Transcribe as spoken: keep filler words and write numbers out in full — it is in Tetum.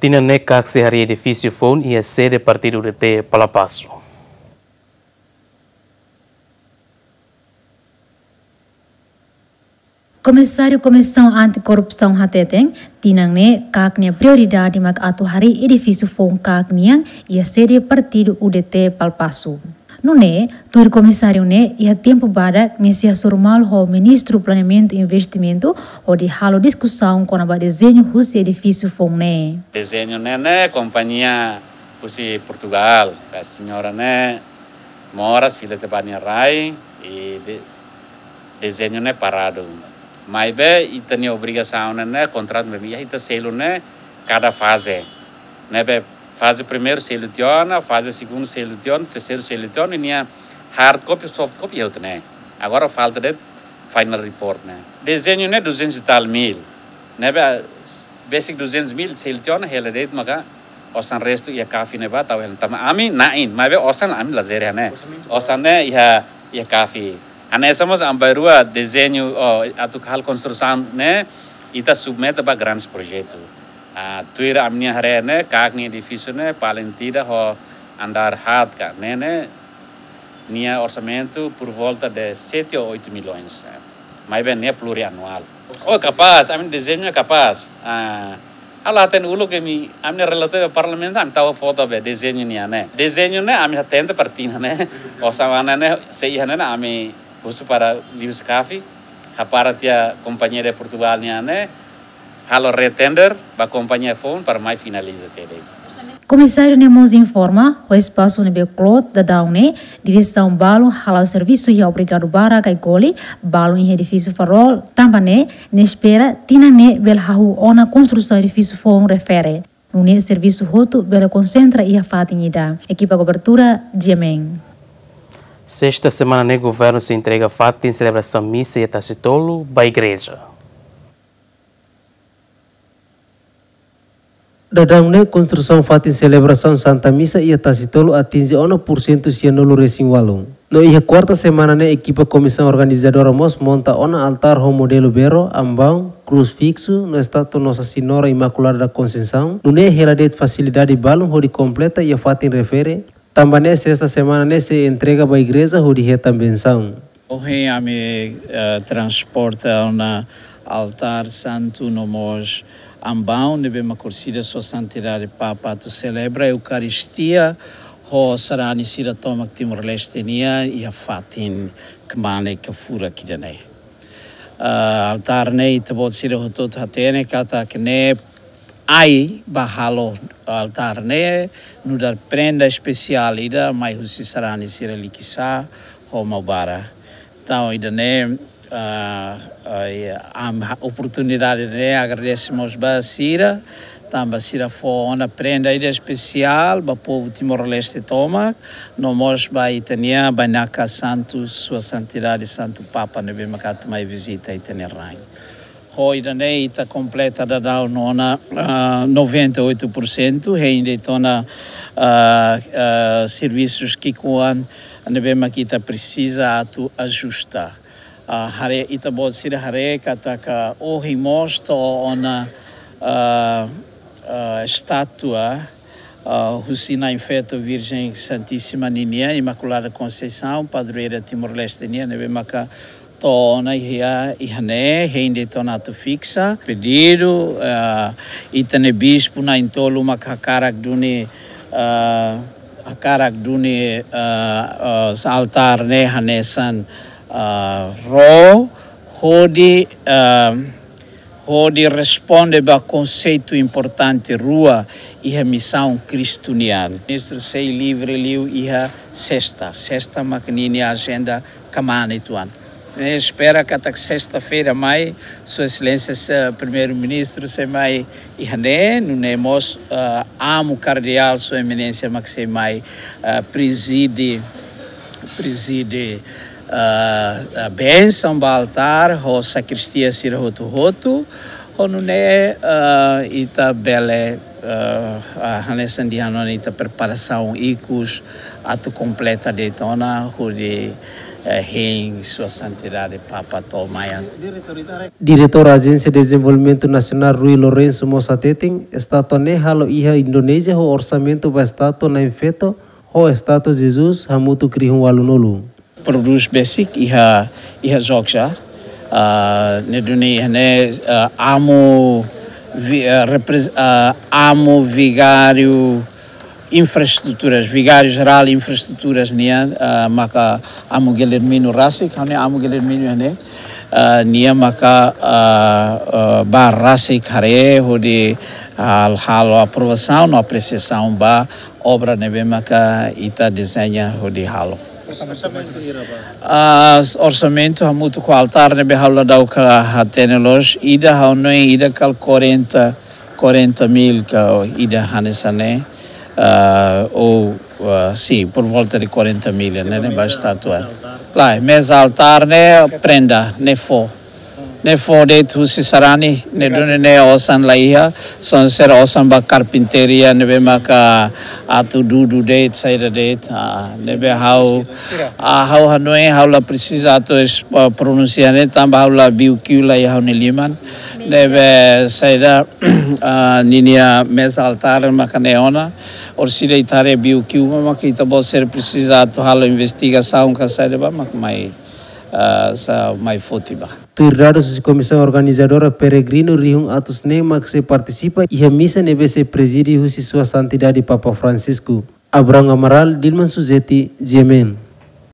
Tinan ne'e KAK sei harii edifísiu foun iha sede partidu U D T Palapasu. Komisáriu Komisaun Anti-Korrupsaun hateten, tinan ne'e KAK nia prioridade mak atu harii edifísiu foun KAK nian iha sede partidu U D T Palapasu. Nune'e, tuir komisáriu ne'e iha tempu badak nia sei hasoru malu ho Ministru Planeamentu Investimentu hodi halo diskusaun kona-ba dezeñu husi edifísiu foun ne'e. Dezeñu ne'e, ne'e kompañia husi Portugal, ka señora ne'e moras fila tiha ba nia rai, i de-, dezeñu ne'e paradu. Maibé ita-nia obrigasaun ne'e, ne'e kontratu ne'ebé ita selu ne'e kada faze. Ne'ebé faze primeiru selu tiha ona, faze segundu selu tiha ona, terseiru selu tiha ona, i nia hard copy, soft copy iha hotu ne'e. Agora falta de'it final report ne'e. Dezeñu ne'e duzentos e tal mil. Ne'ebé besik duzentos mil selu tiha ona, hela de'it maka osan restu iha CAFI ne'ebá tau hela. Tanba ami na'in, maibé osan ami la jere ne'e. Osan ne'e iha, iha CAFI. Hanesan mós ami bainrua dezeñu, oh, atu halo konstrusaun ne'e, ita submete ba grandes projetu. Ah, tuir ami-nia haree ne'e, KAK nia edifísiu ne'e, paling tidak ho andár haat ka, ne'e, ne'e, nia orsamentu por volta de sete ou oito milhões, eh. Maibé ne'e plurianuál. Oh, kapás, ami dezeñu ne'e kapás. Ah, ha'u la hatene uluk imi, ami-nia relatóriu ba Parlamentu, ami tau foto be dezeñu nian ne'e. Dezeñu ne'e, ami hatene para tinan ne'e. Osan ne'e, ne'e, sei iha ne'e, ne'e, ami husu para liuhusi CAFI, hapara tiha kompañia de Portugal nian ne'e, halo retender ba kompañia foun para mai finaliza tiha de'it. Komisáriu ne'e mós informa, ho espasu ne'ebé kloot daudaun ne'e, diresaun balun hala'o servisu iha Obrigadu Barak ka Goli, balun iha edifísiu Farol, tanba ne'e, nia espera tinan ne'e bele hahú ona konstrusaun edifísiu foun refere. Nune'e servisu hotu bele konsentra iha fatin ida. Ekipa kobertura, G M N. Sesta semana ne'e governu sei entrega fatin selebrasaun misa iha Tasitolu ba igreja. Daudaun ne'e konstrusaun fatin selebrasaun Santa Misa iha Tasitolu atinje ona pursentu sianulu resin ualu. No iha kuarta semana ne'e ekipa komisaun organizadora mós monta ona altár ho modelu berro, ambaun, krús fiksu, no estátua Nossa Senhora Imaculada da Conceição, nune'e hela de'it fasilidade balun hodi kompleta iha fatin refere, tanba ne'e sesta semana ne'e sei entrega ba igreja hodi hetan bensaun. Ohin ami, eh, transporta ona altár santu no mós ambaun ne'ebé mak orsida Sua Santidade Papa atu selebra Eukaristia ho sarani sira tomak Timor-Leste nian iha fatin kmanek ka furak ida-ne'e. Ah, altár ne'e ita-boot sira hotu-hotu hatene katak ne'e ai ba halo altár ne'e nu'udar prenda espesiál ida mai husi sarani sira Likisá ho Maubara. Entaun, ida-ne'e, ah, ah, iha, am, ha, oportunidade ne'e agradese mós ba sira, tanba sira fó ona prenda ida espesiál ba povu Timor-Leste tomak, no mós ba ita-nia bainaka santu, Sua Santidade Santu Papa ne'ebé mak atu mai vizita ita-nia rain. Ho ida-ne'e ita kompleta daudaun ona, ah, noventa e oito por cento, hein de'it ona, ah, ah, servisus ki'ikoan ne'ebé mak ita presiza atu ajusta. Ah, haree, ita-boot sira haree katak ohin mós to'o ona, ah, ah, estátua, ah, husi Na'in Feto Virjen Santísima ninian, Imaculada Conceição, padroeira Timor-Leste nian, ne'ebé maka to'o ona iha, iha ne'e, hein de'it ona atu fiksa. Pedidu, ah, ita-nia bispu na'in-tolu mak hakarak duni, ah, hakarak duni, ah, ah, altár ne'e hanesan, ah, ró, hodi, ah, hodi responde ba konseitu importante rua iha misaun Kristu nian. Ministru sei livre liu iha sesta. Sesta mak ninia ajenda kmaan uitoan. Ne'e espera katak sesta-feira mai, Sua Exelénsia, eh, Primeiru-Ministru sei mai iha ne'e, nune'e mós, eh, Amu Kardeál Sua Eminénsia mak sei mai, eh, prezide, prezide, eh, eh, bensaun ba altár, ho sakristia sira hotu-hotu, Ho nune'e, eh, ita bele, eh, ah, hanesan dehan ona, ita preparasaun ikus atu kompleta de'it ona hodi, eh, hein Sua Santidade Papa to'o mai. Diretór Ajénsia Dezenvolvimentu Nasionál Rui Lourenço mós hateten, estátua ne'e halo iha Indonézia ho orsamentu ba estátua na'in-feto ho estátua Jesus hamutuk rihun ualunulu. Prodús besik iha, iha Jogja. Ah, ne'e duni iha ne'e, ah, amu vi-, ah, repres-, ah, amu vigáriu infraestruturas, vigáriu jerál infraestruturas nian, ah, maka amu Guilhermino rasik, ha'u-nia amu Guilhermino iha ne'e, ah, nia maka, ah, ah, bá rasik haree hodi, ah, halo aprovasaun no apresiasaun ba obra ne'ebé maka ita dezeña hodi halo. Orsamentu hira ba? Ah, orsamentu hamutuk ho altár ne'ebé ha'u la dauka hatene loos, ida ha'u hanoin ida kala quarenta, quarenta mil ka ida hanesan ne'e, ah, ou, ah, sim, por volta de quarenta mil, ne'e, ne'e ba estátua. Lae, meza altár ne'e prenda, ne'e fó. Ne'e fó de'it husi sarani, ne'e duni ne'e osan la iha, só se osan ba karpintaria ne'ebé maka atu dudu de'it, saida de'it, ah, ne'ebé ha'u, ah, ha'u hanoin, ha'u la presiza atu es-, ah, pronunsia ne'e, tanba ha'u la biu kiu la iha ha'u-nia liman. Ne'ebé saida, ah, ninia meza altár maka ne'e ona, orsida ita haree biu kiu, maka ita-boot sira presiza atu halo investigasaun ka saida ba, maka mai, ah, sa mai foti ba. Tuir dadus husi komisaun organizadora, peregrinu rihun atus neen mak sei partisipa iha misa ne'ebé sei prezide husi Sua Santidade Papa Francisco. Abraham Amaral, Dilman Suzeti, G M N.